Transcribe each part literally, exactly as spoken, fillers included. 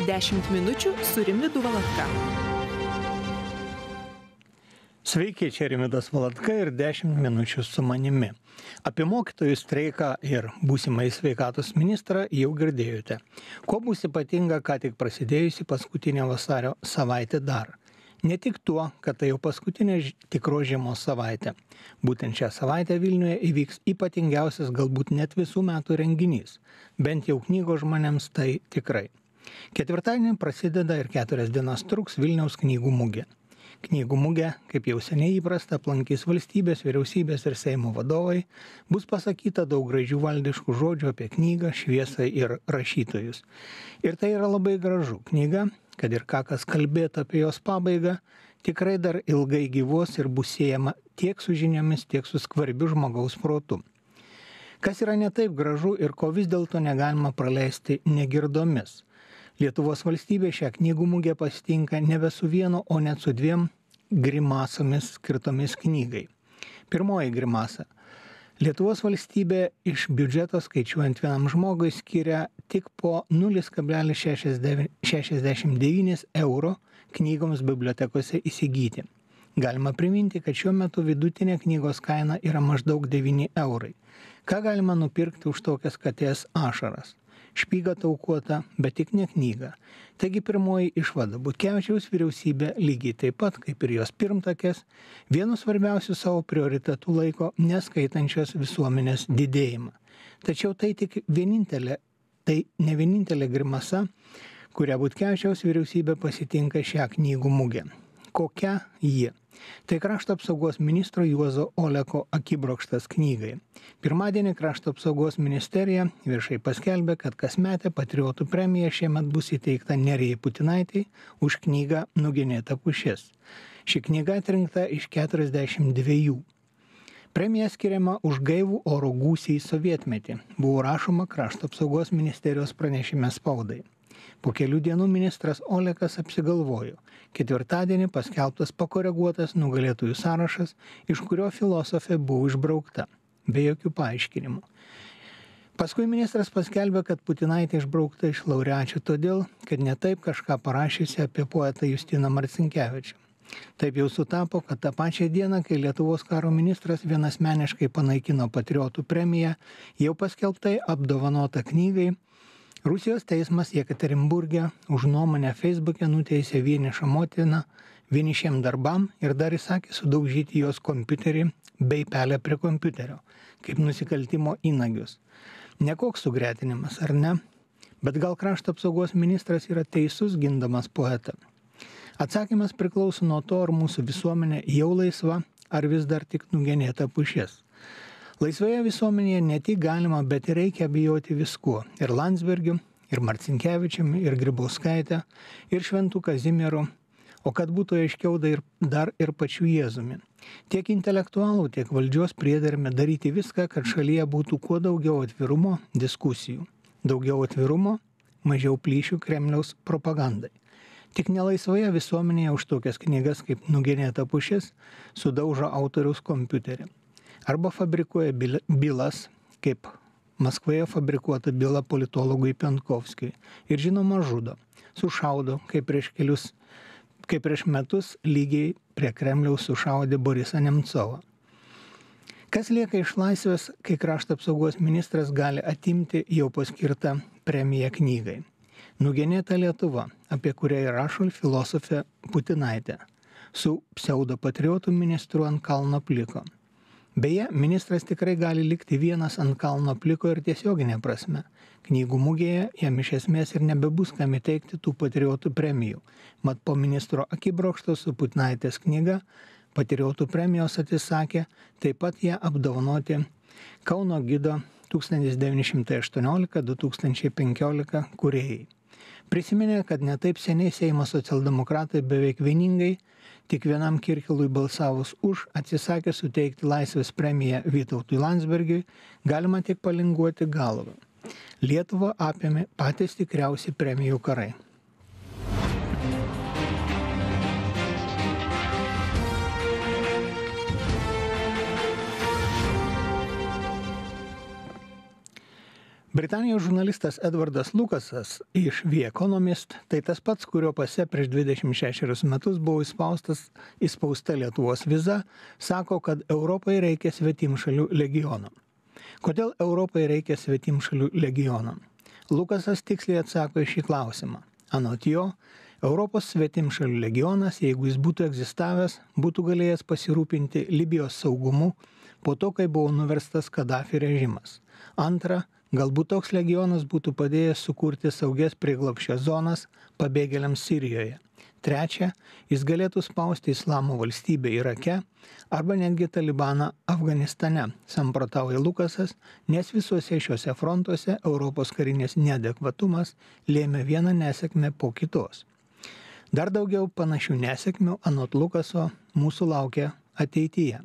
dešimt minučių su Rimvydu Valatka. Sveiki, čia Rimvydas Valatka ir dešimt minučių su manimi. Apie mokytojų streiką ir būsimąjį sveikatos ministrą jau girdėjote. Kuo bus ypatinga, ką tik prasidėjusi paskutinė vasario savaitė dar. Ne tik tuo, kad tai jau paskutinė tikros žiemos savaitė. Būtent šią savaitę Vilniuje įvyks ypatingiausias galbūt net visų metų renginys. Bent jau knygos žmonėms tai tikrai. Ketvirtadienį prasideda ir keturias dienas truks Vilniaus knygų mugė. Knygų mugė, kaip jau seniai įprasta, aplankys valstybės, vyriausybės ir Seimo vadovai, bus pasakyta daug gražių valdiškų žodžių apie knygą, šviesą ir rašytojus. Ir tai yra labai gražu. Knyga, kad ir ką kas kalbėtų apie jos pabaigą, tikrai dar ilgai gyvos ir bus siejama tiek su žiniomis, tiek su skvarbiu žmogaus protu. Kas yra ne taip gražu ir ko vis dėlto negalima praleisti negirdomis. Lietuvos valstybė šią knygų mugę pasitinka nebe su vienu, o net su dviem grimasomis skirtomis knygai. Pirmoji grimasa. Lietuvos valstybė iš biudžeto skaičiuojant vienam žmogui skiria tik po nulis kablelis šešiasdešimt devyni euro knygoms bibliotekose įsigyti. Galima priminti, kad šiuo metu vidutinė knygos kaina yra maždaug devyni eurai. Ką galima nupirkti už tokias katės ašaras? Špygą taukuota, bet tik ne knyga. Taigi pirmoji išvada. Butkevičiaus vyriausybė lygiai taip pat, kaip ir jos pirmtakės, vienu svarbiausių savo prioritetų laiko neskaitančios visuomenės didėjimą. Tačiau tai tik vienintelė, tai ne vienintelė grimasa, kurią Butkevičiaus vyriausybė pasitinka šią knygų mugę. Kokia ji? Tai krašto apsaugos ministro Juozo Oleko akibrokštas knygai. Pirmadienį krašto apsaugos ministerija viešai paskelbė, kad kasmetė patriotų premija šiemet bus įteikta Nerijai Putinaitei už knygą Nugenėta pušis. Ši knyga atrinkta iš keturiasdešimt dviejų. Premija skiriama už gaivų oro gūsį į sovietmetį. Buvo rašoma krašto apsaugos ministerijos pranešime spaudai. Po kelių dienų ministras Olekas apsigalvojo. Ketvirtadienį paskelbtas pakoreguotas nugalėtojų sąrašas, iš kurio filosofė buvo išbraukta, be jokių paaiškinimų. Paskui ministras paskelbė, kad Putinaitė išbraukta iš laureačių todėl, kad netaip kažką parašysi apie poetą Justiną Marcinkevičių. Taip jau sutapo, kad tą pačią dieną, kai Lietuvos karo ministras vienasmeniškai panaikino patriotų premiją, jau paskelbtai apdovanota knygai, Rusijos teismas Jekaterinburge už nuomonę Facebook'e nuteisė vienišą motiną vienišiem darbam ir dar įsakė sudaužyti jos kompiuterį bei pelę prie kompiuterio, kaip nusikaltimo įnagius. Nekoks sugretinimas, ar ne? Bet gal krašto apsaugos ministras yra teisus gindamas poetą? Atsakymas priklauso nuo to, ar mūsų visuomenė jau laisva, ar vis dar tik nugenėta pušis. Laisvoje visuomenėje ne tik galima, bet ir reikia bijoti viskuo. Ir Landsbergiu, ir Marcinkevičiumi, ir Grybauskaite, ir Šventu Kazimieru, o kad būtų aiškiau dar ir pačiu Jėzumi. Tiek intelektualų, tiek valdžios priederme daryti viską, kad šalyje būtų kuo daugiau atvirumo diskusijų. Daugiau atvirumo, mažiau plyšių Kremliaus propagandai. Tik nelaisvoje visuomenėje už tokias knygas kaip Nugenėta pušis sudaužo autoriaus kompiuterį. Arba fabrikuoja bylas, kaip Maskvoje fabrikuota byla politologui Penkovskiui. Ir žinoma žudo, sušaudo, kaip prieš kelius, kaip prieš metus lygiai prie Kremliaus sušaudė Borisą Nemcovą. Kas lieka iš laisvės, kai krašto apsaugos ministras gali atimti jau paskirtą premiją knygai? Nugenėta Lietuva, apie kurią rašo filosofė Putinaitė, su pseudopatriotų ministru ant kalno pliko. Beje, ministras tikrai gali likti vienas ant kalno pliko ir tiesioginė prasme. Knygų mugėje jam iš esmės ir nebebus kam įteikti tų patriotų premijų. Mat po ministro akibrokšto su Putinaitės knyga patriotų premijos atsisakė taip pat ją apdovanoti Kauno gido tūkstantis devyni šimtai aštuoniolika du tūkstančiai penkiolika kūrėjai. Prisiminė, kad netaip seniai Seimo socialdemokratai beveik vieningai tik vienam Kirkilui balsavus už atsisakė suteikti laisvės premiją Vytautui Landsbergiui, galima tik palinguoti galvą. Lietuvą apėmė patys tikriausi premijų karai. Britanijos žurnalistas Edvardas Lukasas iš The Economist, tai tas pats, kurio pase prieš dvidešimt šešerius metus buvo įspaustas, įspausta Lietuvos viza, sako, kad Europai reikia svetimšalių legiono. Kodėl Europai reikia svetimšalių legiono? Lukasas tiksliai atsako į šį klausimą. Anot jo, Europos svetimšalių legionas, jeigu jis būtų egzistavęs, būtų galėjęs pasirūpinti Libijos saugumu po to, kai buvo nuverstas Kadafi režimas. Antra, galbūt toks legionas būtų padėjęs sukurti saugias prieglobsčio zonas pabėgėliams Sirijoje. Trečia, jis galėtų spausti Islamo valstybę Irake arba netgi Talibaną Afganistane, samprotauja Lukasas, nes visuose šiuose frontuose Europos karinės neadekvatumas lėmė vieną nesėkmę po kitos. Dar daugiau panašių nesėkmių, anot Lukaso, mūsų laukia ateityje.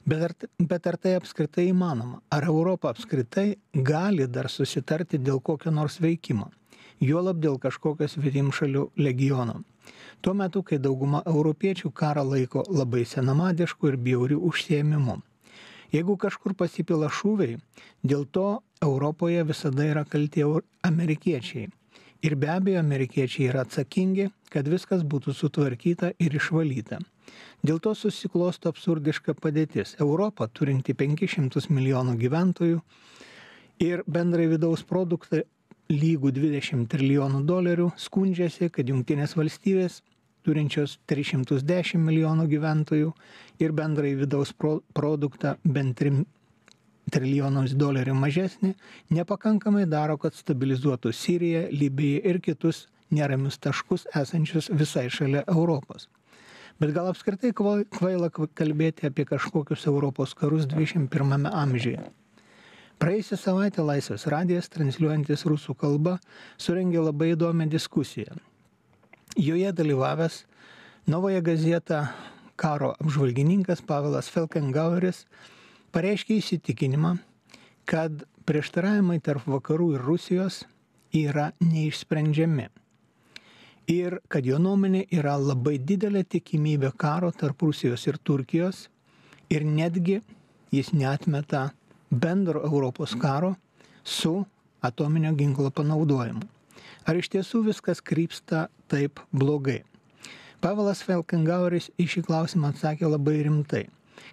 Bet ar, bet ar tai apskritai įmanoma? Ar Europa apskritai gali dar susitarti dėl kokio nors veikimo? Juolab dėl kažkokio svetimšalių legiono. Tuo metu, kai dauguma europiečių karą laiko labai senamadišku ir bjauriu užsiėmimu. Jeigu kažkur pasipila šūviai, dėl to Europoje visada yra kalti amerikiečiai. Ir be abejo, amerikiečiai yra atsakingi, kad viskas būtų sutvarkyta ir išvalyta. Dėl to susiklosto absurdiška padėtis. Europa, turinti penkis šimtus milijonų gyventojų ir bendrai vidaus produktą lygų dvidešimt trilijonų dolerių, skundžiasi, kad Jungtinės valstybės, turinčios tris šimtus dešimt milijonų gyventojų ir bendrai vidaus pro, produktą bent trim trilijonus dolerių mažesnį, nepakankamai daro, kad stabilizuotų Siriją, Libiją ir kitus neramius taškus esančius visai šalia Europos. Bet gal apskritai kvaila kalbėti apie kažkokius Europos karus dvidešimt pirmame amžiuje. Praėjusią savaitę Laisvės radijas, transliuojantis rusų kalbą, surengė labai įdomią diskusiją. Joje dalyvavęs Novoje Gazeta karo apžvalgininkas Pavelas Felkengaueris pareiškė įsitikinimą, kad prieštaravimai tarp vakarų ir Rusijos yra neišsprendžiami. Ir kad jo nuomonė yra labai didelė tikimybė karo tarp Rusijos ir Turkijos ir netgi jis neatmeta bendro Europos karo su atominio ginklo panaudojimu. Ar iš tiesų viskas krypsta taip blogai? Pavelas Felkengaueris į šį klausimą atsakė labai rimtai,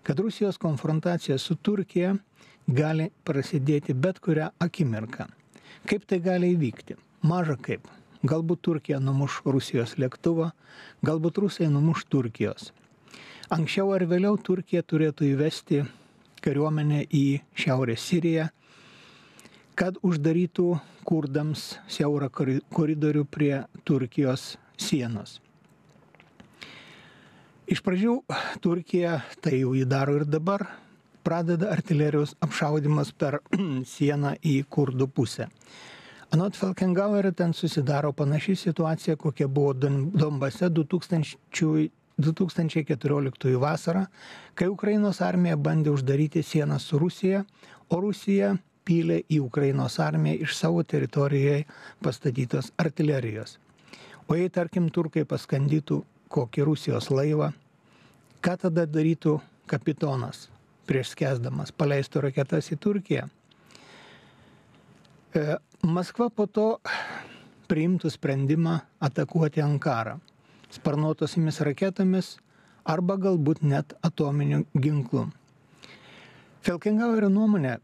kad Rusijos konfrontacija su Turkija gali prasidėti bet kurią akimirką. Kaip tai gali įvykti? Maža kaip. Galbūt Turkija numuš Rusijos lėktuvą, galbūt Rusai numuš Turkijos. Anksčiau ar vėliau Turkija turėtų įvesti kariuomenę į Šiaurės Siriją, kad uždarytų kurdams siaurą koridorių prie Turkijos sienos. Iš pradžių Turkija, tai jau jį daro ir dabar, pradeda artilerijos apšaudimas per sieną į kurdų pusę. Anot Felkengauerio ten susidaro panaši situacija, kokia buvo Donbase du tūkstančiai keturioliktųjų vasarą, kai Ukrainos armija bandė uždaryti sieną su Rusija, o Rusija pylė į Ukrainos armiją iš savo teritorijoje pastatytos artilerijos. O jei, tarkim, turkai paskandytų kokį Rusijos laivą, ką tada darytų kapitonas prieš skęsdamas, paleistų raketas į Turkiją? Maskva po to priimtų sprendimą atakuoti Ankarą sparnuotosimis raketomis arba galbūt net atominiu ginklu. Felkengauerio nuomonė,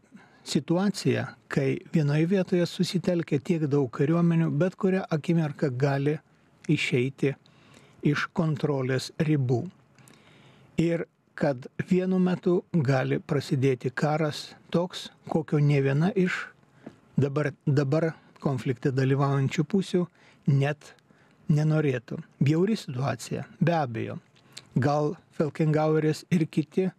situacija, kai vienoje vietoje susitelkia tiek daug kariuomenių, bet kurią akimirką gali išeiti iš kontrolės ribų. Ir kad vienu metu gali prasidėti karas toks, kokio ne viena iš dabar, dabar konflikte dalyvaujančių pusių net nenorėtų. Bjauri situacija, be abejo. Gal Felkengaueris ir kiti a,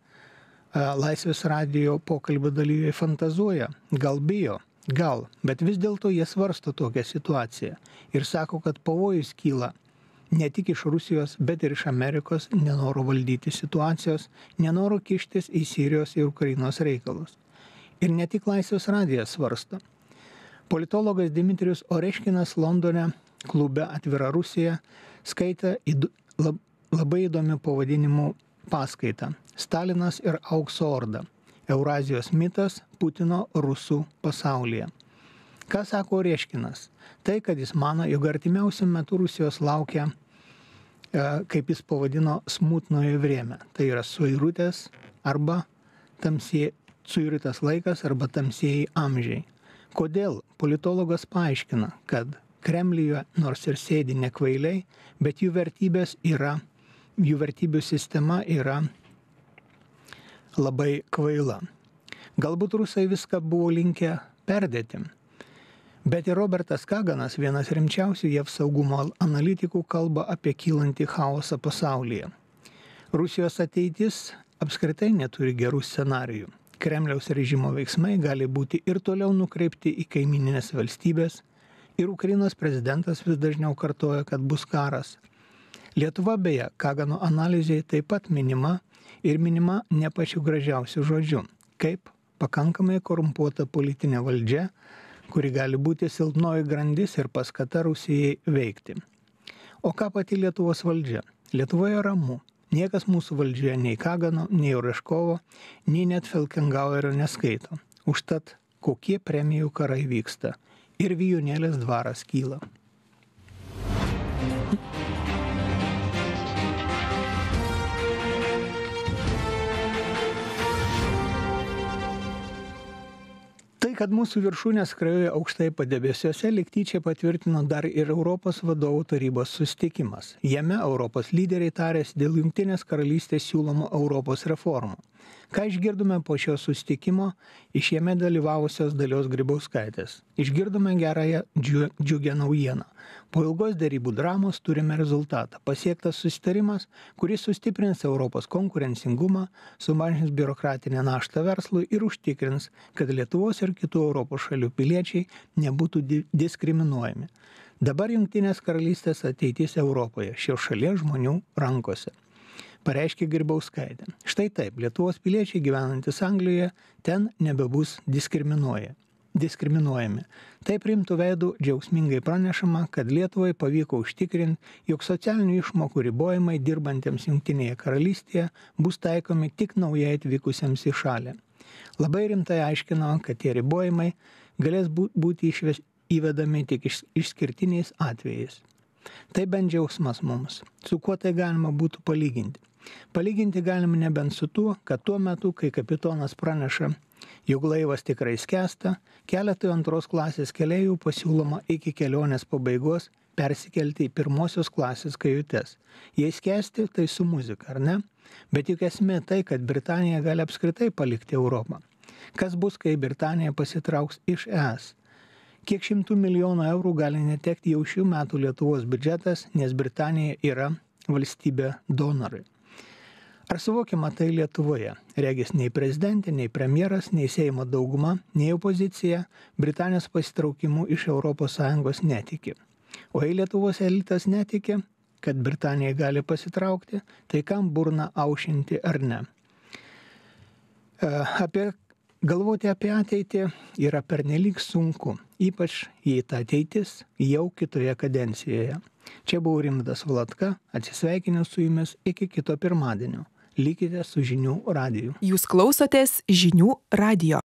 Laisvės radijo pokalbio dalyviai fantazuoja, gal bijo, gal, bet vis dėlto jie svarsto tokią situaciją ir sako, kad pavojus kyla ne tik iš Rusijos, bet ir iš Amerikos nenoro valdyti situacijos, nenoro kištis į Sirijos ir Ukrainos reikalus. Ir ne tik Laisvės radijas svarsto. Politologas Dmitrijus Oreškinas Londone klube Atvira Rusija skaitė labai įdomių pavadinimų paskaitą Stalinas ir aukso orda. Eurazijos mitas Putino rusų pasaulyje. Ką sako Oreškinas? Tai, kad jis mano, jog artimiausiu metu Rusijos laukia, kaip jis pavadino, smutnoje vrėme. Tai yra suirutės arba tamsiai, suirutės laikas arba tamsieji amžiai. Kodėl? Politologas paaiškina, kad Kremliuje nors ir sėdi ne kvailiai, bet jų vertybės yra, jų vertybių sistema yra labai kvaila. Galbūt rusai viską buvo linkę perdėti. Bet ir Robertas Kaganas, vienas rimčiausių J A V saugumo analitikų, kalba apie kylantį chaosą pasaulyje. Rusijos ateitis apskritai neturi gerų scenarijų. Kremliaus režimo veiksmai gali būti ir toliau nukreipti į kaimininės valstybės, ir Ukrainos prezidentas vis dažniau kartoja, kad bus karas. Lietuva beje, Kagano analizėje taip pat minima ir minima ne pačiu gražiausiu žodžiu, kaip pakankamai korumpuota politinė valdžia, kuri gali būti silpnoji grandis ir paskata Rusijai veikti. O ką pati Lietuvos valdžia? Lietuvoje ramu. Niekas mūsų valdžioje nei Kagano, nei Oreškovo, nei net Felkengauerio neskaito. Užtat kokie premijų karai vyksta. Ir Vijūnėlės dvaras kyla. Tai, kad mūsų viršūnės skrajoja aukštai padebesiuose, lyg tyčia patvirtino dar ir Europos vadovų tarybos susitikimas. Jame Europos lyderiai tarėsi dėl Jungtinės karalystės siūlomų Europos reformų. Ką išgirdome po šio susitikimo iš jame dalyvavusios Dalios Grybauskaitės? Išgirdome gerąją džiugią naujieną. Po ilgos derybų dramos turime rezultatą. Pasiektas susitarimas, kuris sustiprins Europos konkurencingumą, sumažins biurokratinę naštą verslui ir užtikrins, kad Lietuvos ir kitų Europos šalių piliečiai nebūtų di- diskriminuojami. Dabar Jungtinės karalystės ateitis Europoje, šios šalies žmonių rankose, pareiškė Grybauskaitė. Štai taip, Lietuvos piliečiai gyvenantis Anglijoje ten nebebus diskriminuoja. diskriminuojami. Taip rimtų veidų džiaugsmingai pranešama, kad Lietuvai pavyko užtikrinti, jog socialinių išmokų ribojimai dirbantiems Jungtinėje karalystėje bus taikomi tik naujai atvykusiems į šalį. Labai rimtai aiškino, kad tie ribojimai galės būti išves, įvedami tik iš, išskirtiniais atvejais. Tai bent džiaugsmas mums. Su kuo tai galima būtų palyginti? Palyginti galime nebent su tuo, kad tuo metu, kai kapitonas praneša, jog laivas tikrai skęsta, keletui antros klasės keleivių pasiūloma iki kelionės pabaigos persikelti į pirmosios klasės kajutes. Jei skęsti, tai su muzika, ar ne? Bet juk esmė tai, kad Britanija gali apskritai palikti Europą. Kas bus, kai Britanija pasitrauks iš E S? Kiek šimtų milijonų eurų gali netekti jau šių metų Lietuvos biudžetas, nes Britanija yra valstybė donorai. Ar suvokiama tai Lietuvoje? Regis nei prezidentė, nei premjeras, nei Seimo dauguma, nei opozicija Britanijos pasitraukimu iš Europos Sąjungos netiki. O jei Lietuvos elitas netiki, kad Britanija gali pasitraukti, tai kam burną aušinti ar ne? Apie, galvoti apie ateitį yra pernelyg sunku, ypač jei ta ateitis jau kitoje kadencijoje. Čia buvo Rimvydas Valatka, atsisveikinęs su jumis iki kito pirmadienio. Likite su Žinių radiju. Jūs klausotės Žinių radijo.